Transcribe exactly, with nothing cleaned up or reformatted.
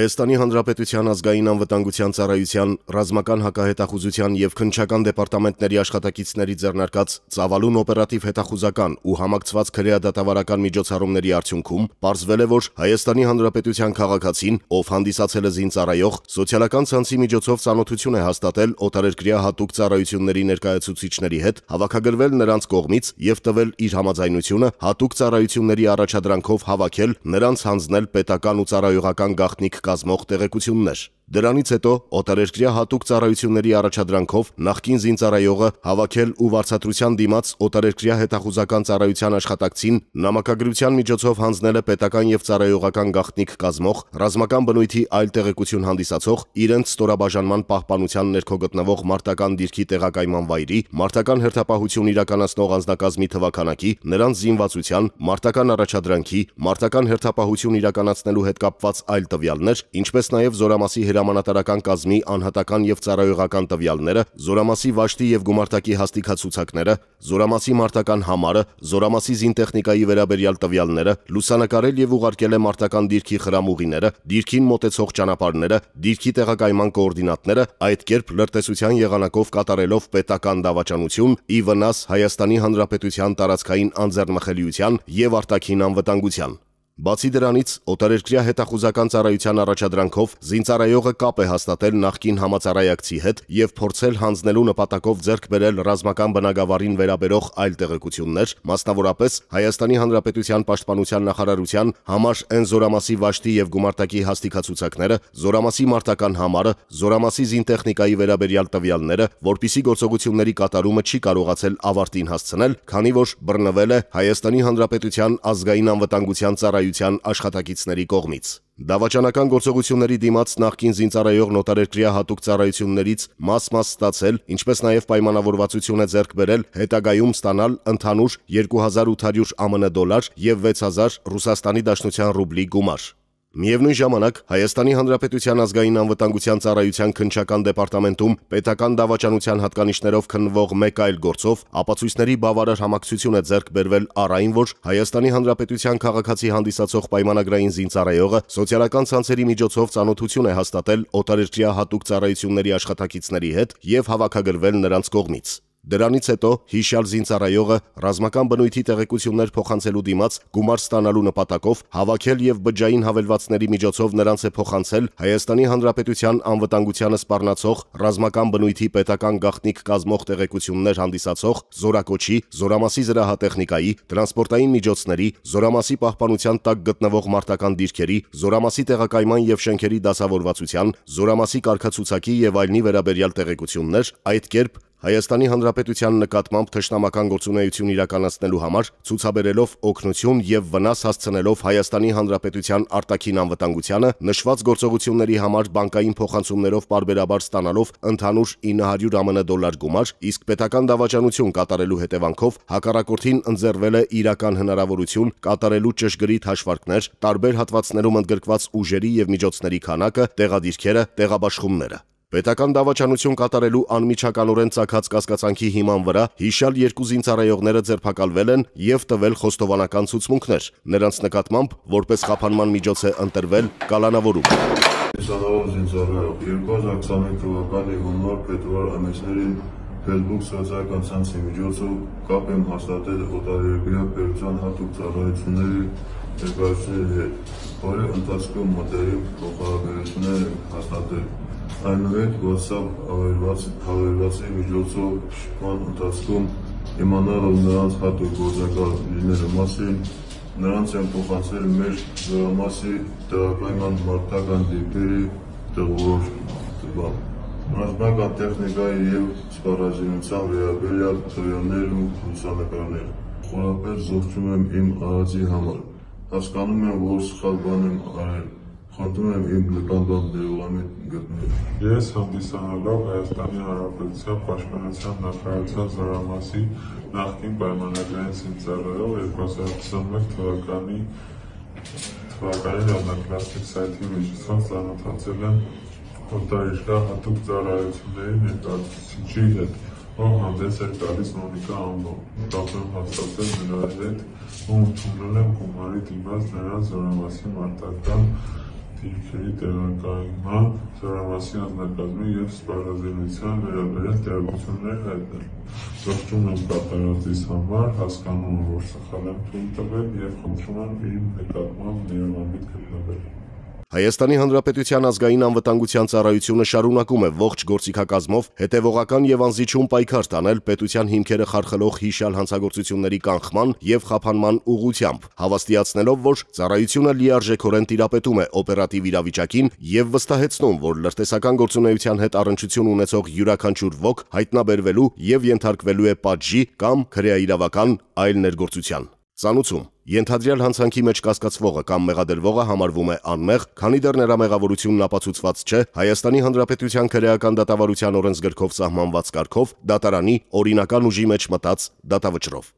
Հայաստանի Հանրապետության ազգային անվտանգության ծառայության, ռազմական հակահետախուզության և քննչական դեպարտամենտների աշխատակիցների ձեռնարկած ծավալուն օպերատիվ հետախուզական ու համակցված քրեադատավարական միջոցառումների արդյունքում պարզվել է, որ Հայաստանի Հանրապետության քաղաքացին, ով հանդիսացել է զինծառայող, սոցիալական ցանցի միջոցով ծանոթություն է հաստատել օտարերկրյա հատուկ ծառայությունների ներկայացուցիչների հետ, հավաքագրվել նրանց կողմից և տվել իր համաձայնությունը հատուկ ծառայությունների առաջադրանքով հավաքել, նրանց հանձնել պետական ու ծառայողական գաղտնիք կազմող տեղեկություններ։ Դրանից հետո օտարերկրյա հատուկ ծառայությունների առաջադրանքով նախկին զինծառայողը հավաքել ու վարձատրության դիմաց օտարերկրյա հետախուզական ծառայության աշխատակցին նամակագրության միջոցով հանձնել է պետական և ծառայողական գաղտնիք կազմող, ռազմական բնույթի այլ տեղեկություն հանդիսացող, իրենց ստորաբաժանման պահպանության ներքո գտնվող մարտական դիրքի տեղակայման վայրի, մարտական հերթապահություն իրականացնող անձնակազմի թվաքանակի, նրանց զինվածության, մարտական առաջադրանքի, մարտական հերթապահություն իրականացնելու հետ կապված այլ տվյալներ, ինչպես նաև զորամասի հրամանատարական կազմի անհատական և ծառայողական տվյալները, զորամասի վաշտի և գումարտակի հաստիքացուցակները, զորամասի մարտական համարը, զորամասի զինտեխնիկայի վերաբերյալ տվյալները, լուսանկարել և ուղարկել է մարտական դիրքի խրամուղիները, դիրքին մոտեցող ճանապարհները, դիրքի տեղակայման կոորդինատները, այդ կերպ լրտեսության եղանակով կատարելով պետական դավաճանություն ի վնաս Հայաստանի Հանրապետության տարածքային անձեռնմխելիության և արտաքին անվտանգության։ Բացի դրանից, օտարերկրյա հետախուզական ծառայության առաջադրանքով զինծառայողը կապ է հաստատել նախկին համածառայակցի հետ և փորձել հանձնելու նպատակով ձեռք բերել ռազմական բնագավառին վերաբերող այլ տեղեկություններ, մասնավորապես Հայաստանի Հանրապետության Պաշտպանության նախարարության համար N զորամասի վաշտի և գումարտակի հաստիքացուցակները, զորամասի մարտական համարը, զորամասի զինտեխնիկայի վերաբերյալ տվյալները, որպիսի գործողությունների կատարումը չի կարողացել ավարտին հասցնել, քանի որ բռնվել է Հայաստանի Հանրապետության ազգային անվտանգության ծառայության աշխատակիցների կողմից։ Դավաճանական գործողությունների դիմաց նախկին զինծառայողն օտարերկրյա հատուկ ծառայություններից մաս-մաս ստացել, ինչպես նաև պայմանավորվածություն է ձեռք բերել հետագայում ստանալ ընդհանուր երկու հազար ութ հարյուր ԱՄՆ դոլար և վեց հազար Ռուսաստանի Դաշնության ռուբլի գումար։ Միևնույն ժամանակ Հայաստանի Հանրապետության ազգային անվտանգության ծառայության քննչական դեպարտամենտում պետական դավաճանության հատկանիշներով քննվող մեկ այլ գործով ապացույցների բավարար համակցություն է ձեռք բերվել առ այն, որ Հայաստանի Հանրապետության քաղաքացի հանդիսացող պայմանագրային զինծառայողը սոցիալական ցանցերի միջոցով ծանոթություն է հաստատել օտարերկրյա հատուկ ծառայությունների աշխատակիցների հետ և հավաքագրվել նրանց կողմից։ Դրանից հետո հիշյալ զինծառայողը ռազմական բնույթի տեղեկություններ փոխանցելու դիմաց գումար ստանալու նպատակով հավաքել և բջջային հավելվածների միջոցով նրանց է փոխանցել Հայաստանի Հանրապետության անվտանգությանը սպառնացող ռազմական բնույթի պետական գաղտնիք կազմող տեղեկություններ հանդիսացող զորակոչի, զորամասի զրահատեխնիկայի, տրանսպորտային միջոցների, զորամասի պահպանության տակ գտնվող մարտական դիրքերի, զորամասի տեղակայման և շենքերի դասավորվածության, զորամասի կարգացուցակի և այլնի վերաբերյալ տեղեկություններ, այդ կերպ Հայաստանի Հանրապետության նկատմամբ թշնամական գործունեություն իրականացնելու համար ցուցաբերելով օգնություն և վնաս հասցնելով Հայաստանի Հանրապետության արտաքին անվտանգությանը, նշված գործողությունների համար բանկային փոխանցումներով պարբերաբար ստանալով ընդհանուր ինը հարյուր ԱՄՆ դոլար գումար, իսկ պետական դավաճանություն կատարելու հետևանքով հակառակորդին ընձեռվել է իրական հնարավորություն կատարելու ճշգրիտ հաշվարկներ, տարբեր հատվածներում ընդգրկված ուժերի և միջոցների քանակը, տեղադիրքերը, տեղաբաշխումները։ Պետական դավաճանություն կատարելու անմիջականորեն ծագած կասկածանքի հիման վրա հիշյալ երկու զինծառայողները ձերբակալվել են և տվել խոստովանական ցուցմունքներ։ Նրանց նկատմամբ որպես խափանման միջոց է ընտրվել կալանավորում։ Տեսանավոր զինծառայող երկու հազար քսաներկու թվականի հունվար փետրվար ամիսներին Facebook սոցիալական ցանցի միջոցով կապ եմ հաստատել օտարերկրյա պետության հատուկ ծառայությունների ներկայացուցիչների հետ, որի ընթացքում մտերիմ փոխհարաբերություններ ենք հաստատել։ Այնուհետ WhatsApp հավելվածի միջոցով շփման ընթացքում իմանալով նրանց հատուկ գործակալ լինելու մասին, նրանց են փոխանցել մեր զորամասի տեղակայման մարտական դիրքերի տղորոշ, ռազմական տեխնիկայի և սպառազինության վերաբերյալ տվյալներ ու լուսանկարներ։ Խորապես զոհվում եմ իմ արածի համար։ Հասկանում եմ, որ սխալ բան եմ արել։ Խնդրում եմ իմ նկատմամբ դեղորայք գտնել։ Ես հանդիսանալով Հայաստանի Հանրապետության Պաշտպանության նախարարության զորամասի նախկին պայմանագրային զինծառայող երկու հազար քսաներկու թվականի թվականին աննախլաստիկ սայթի միջոցով ծանոթացել եմ օտարերկրյա հատուկ ծառայությունների ներկայացուցիչի հետ, ով հանդես էր գալիս Մոնիկա անվամբ։ Կապ եմ հաստատել նրա հետ ու ընդունել եմ գումարի դիմաց նրա զորամասի մարտական դիրքերի տեղակայման, զորամասի անձնակազմի և սպառազինության վերաբերյալ տեղեկություններ հայտնել։ Ողջունում եմ կատարածիս համար, հասկանում եմ, որ սխալ եմ թույլ տվել և խնդրում եմ իմ նկատմամբ ներողամիտ գտնվել։ Հայաստանի Հանրապետության ազգային անվտանգության ծառայությունը շարունակում է ողջ գործիքակազմով հետևողական և անզիջում պայքար տանել պետության հիմքերը խարխլող հիշյալ հանցագործությունների կանխման և խափանման ուղղությամբ, հավաստիացնելով, որ ծառայությունը լիարժեքորեն տիրապետում է օպերատիվ իրավիճակին և վստահեցնում, որ լրտեսական գործունեության հետ առնչություն ունեցող յուրաքանչյուր ոք հայտնաբերվելու և ենթարկվելու է պատժի կամ քրեաիրավական այլ ներգործության։ Ծանուցում. ենթադրյալ հանցանքի մեջ կասկածվողը կամ մեղադրվողը համարվում է անմեղ, քանի դեռ նրա մեղավորությունն ապացուցված չէ Հայաստանի Հանրապետության քրեական դատավարության օրենսգրքով սահմանված կարգով դատարանի օրինական ուժի մեջ մտած դատավճռով։